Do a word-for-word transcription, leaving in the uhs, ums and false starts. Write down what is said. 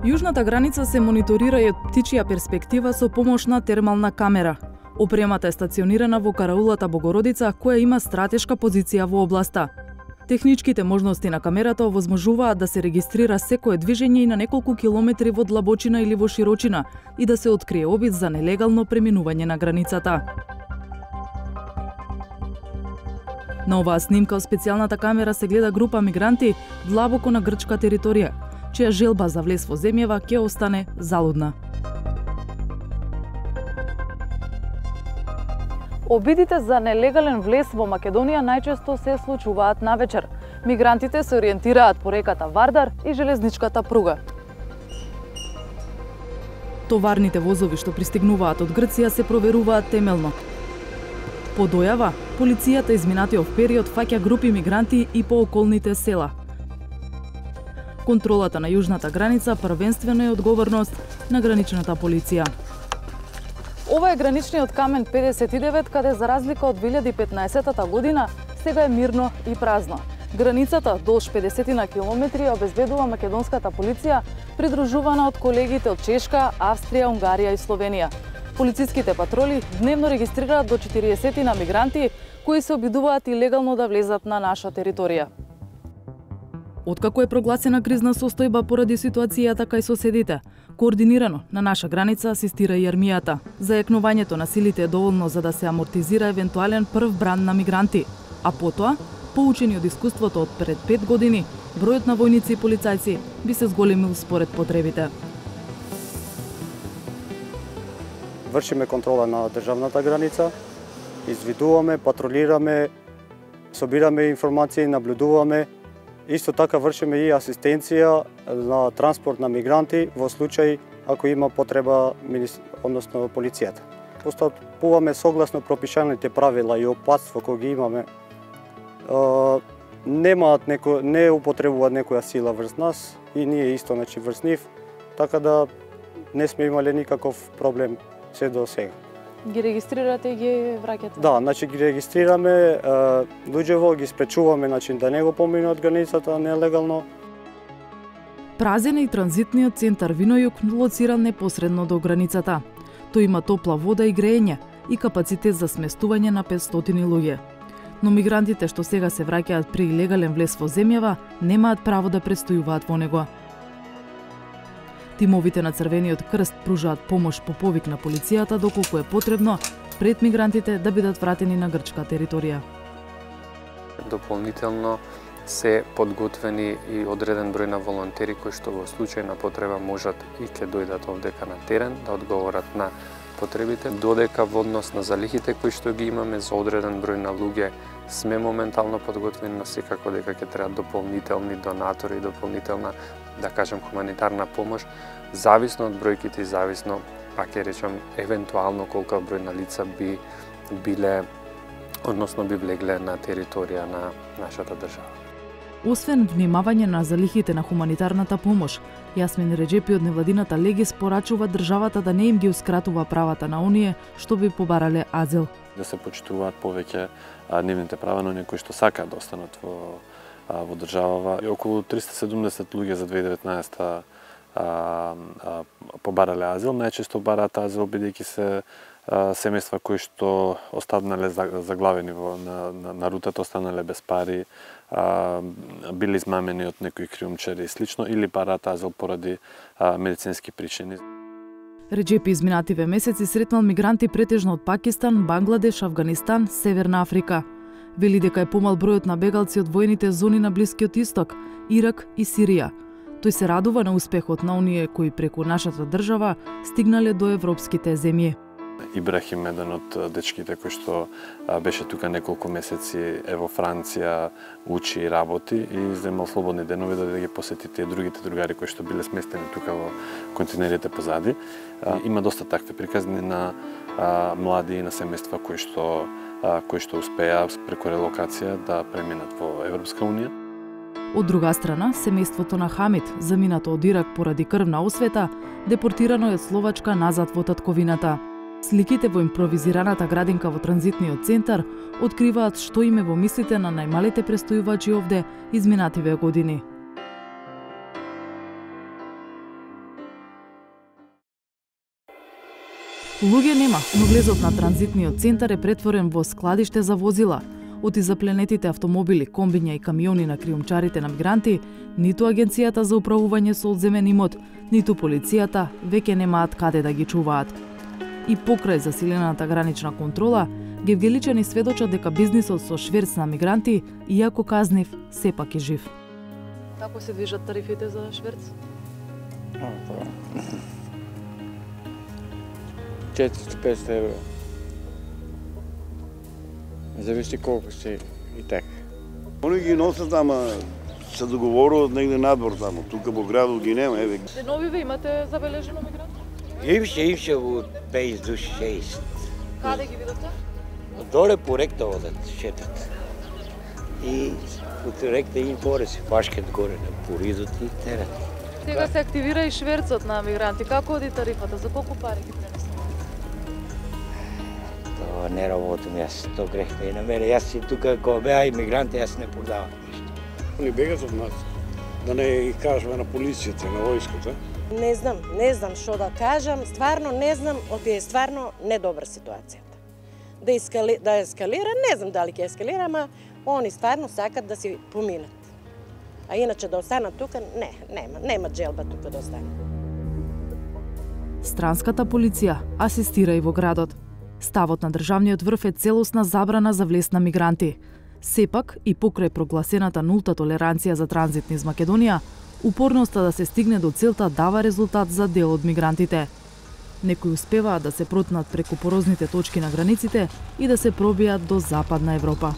Јужната граница се мониторира и од птичја перспектива со помош на термална камера. Опремата е стационирана во караулата Богородица, која има стратешка позиција во областа. Техничките можности на камерата овозможуваат да се регистрира секое движење и на неколку километри во длабочина или во широчина и да се открие обид за нелегално преминување на границата. На оваа снимка од специјалната камера се гледа група мигранти длабоко на грчка територија, чија желба за влез во земјава ќе остане залудна. Обидите за нелегален влез во Македонија најчесто се случуваат навечер. Мигрантите се ориентираат по реката Вардар и железничката пруга. Товарните возови што пристигнуваат од Грција се проверуваат темелно. По дојава, полицијата изминатиот период фаќа групи мигранти и по околните села. Контролата на јужната граница првенствено е одговорност на граничната полиција. Ова е граничниот камен педесет и девет, каде за разлика од две илјади и петнаесетта година сега е мирно и празно. Границата долж педесет на километри обезбедува македонската полиција, придружувана од колегите од Чешка, Австрија, Унгарија и Словенија. Полициските патроли дневно регистрираат до четириесет на мигранти кои се обидуваат илегално да влезат на наша територија. Откако е прогласена кризна состојба поради ситуацијата кај соседите, координирано на наша граница асистира и армијата. Зајакнувањето на силите е доволно за да се амортизира евентуален прв бран на мигранти, а потоа, поучени од искуството од пред пет години, бројот на војници и полицајци би се зголемил според потребите. Вршиме контрола на државната граница, извидуваме, патролираме, собираме информации, наблюдуваме. Исто така вршиме и асистенција на транспорт на мигранти во случај ако има потреба, односно полицијата. Постапуваме согласно пропишаните правила и опатство кои ги имаме. Немаат неко, не употребуваат некоја сила врз нас и ние исто значи врз нив, така да не сме имале никаков проблем се до сега. Ги регистрирате и ги враќате? Да, значи ги регистрираме, луѓево ги спречуваме значи да не го поминат границата нелегално. Празен е и транзитниот центар Винојук, лоциран непосредно до границата. Тој има топла вода и грејење и капацитет за сместување на петстотини луѓе. Но мигрантите што сега се враќаат при илегален влез во земјава немаат право да престојуваат во него. Тимовите на Црвениот крст пружаат помош по повик на полицијата доколку е потребно пред мигрантите да бидат вратени на грчка територија. Дополнително се подготвени и одреден број на волонтери кои што во случај на потреба можат и ќе дојдат овдека на терен да одговорат на потребите, додека во однос на залихите кои што ги имаме за одреден број на луѓе сме моментално подготвени, но секако дека ќе треба дополнителни донатори, дополнителна, да кажем, хуманитарна помош, зависно од бројките и зависно, пак ќе речам, евентуално колку број на лица би биле, односно би влегле на територија на нашата држава. Освен внимавање на залихите на хуманитарната помош, Јасмин Реџепи од невладината Легис порачува државата да не им гиускратува правата на оние што би побарале азил. Да се почитуваат повеќе нивните права на оние кои што сакаат да останат во во државава. И околу триста и седумдесет луѓе за две илјади и деветнаесетта побарале азил. Најчесто бараат азил бидејќи се семејства кои што останале заглавени во, на, на, на рутата, останале без пари, а, били измамени од некои криумчари и слично, или бараат азил поради а, медицински причини. Реџепи изминативе месеци сретнал мигранти претежно од Пакистан, Бангладеш, Авганистан, Северна Африка. Вели дека е помал бројот на бегалци од војните зони на Блискиот Исток, Ирак и Сирија. Тој се радува на успехот на оние кои преку нашата држава стигнале до европските земји. Ибрахим, еден од дечките кој што беше тука неколку месеци, е во Франција, учи и работи и земал слободни денови да ги посети тие другите другари кои што биле сместени тука во континерите позади. Има доста такви приказни на млади и на семејства кои што кои што успеа преку релокација да преминат во Европска унија. Од друга страна, семејството на Хамид, заминато од Ирак поради крвна освета, депортирано е од Словачка назад во татковината. Сликите во импровизираната градинка во транзитниот центар откриваат што име во мислите на најмалите престојувачи овде изминативе години. Луѓе нема, но влезот на транзитниот центар е претворен во складиште за возила. Од изапленетите автомобили, комбиња и камиони на криумчарите на мигранти, ниту Агенцијата за управување со одземен имот, ниту полицијата веќе немаат каде да ги чуваат. И покрај засилената гранична контрола, гевгеличани сведочат дека бизнисот со шверц на мигранти, иако казнив, сепак е жив. Како се движат тарифите за шверц? четиристо до петстотини евро. Зависи колку си и така. Они ги носат, ама се договоруват негде надвор таму. Тука во градот ги нема, еве. Деновиве имате забележено мигранти? Имше, имше во пет души, шест. Каде ги видите? Доле по ректа одат, шетат. И от ректа им горе се фашкат горе на поридот и терат. Сега се активира и шверцот на мигранти. Како оди тарифата? За колку пари ги пренесува? Тоа не работам јас, тоа грехта и на мене. Јас си тука, кога беа имигранти, јас не продавам ништо. Они бегат од нас. Да не ги кажеме на полицијата, на војската. Не знам, не знам што да кажам, стварно не знам, оти е стварно недобра ситуацијата. Да, ескали, да ескалира, не знам дали ќе ескалира, ама они стварно сакат да си поминат. А иначе да останат тука, не, нема, нема джелба тука да останат. Странската полиција асистира и во градот. Ставот на државниот врв е целосна забрана за влез на мигранти. Сепак, и покрај прогласената нулта толеранција за транзит низ Македонија, упорноста да се стигне до целта дава резултат за дел од мигрантите. Некои успеваат да се протнат преку порозните точки на границите и да се пробијат до Западна Европа.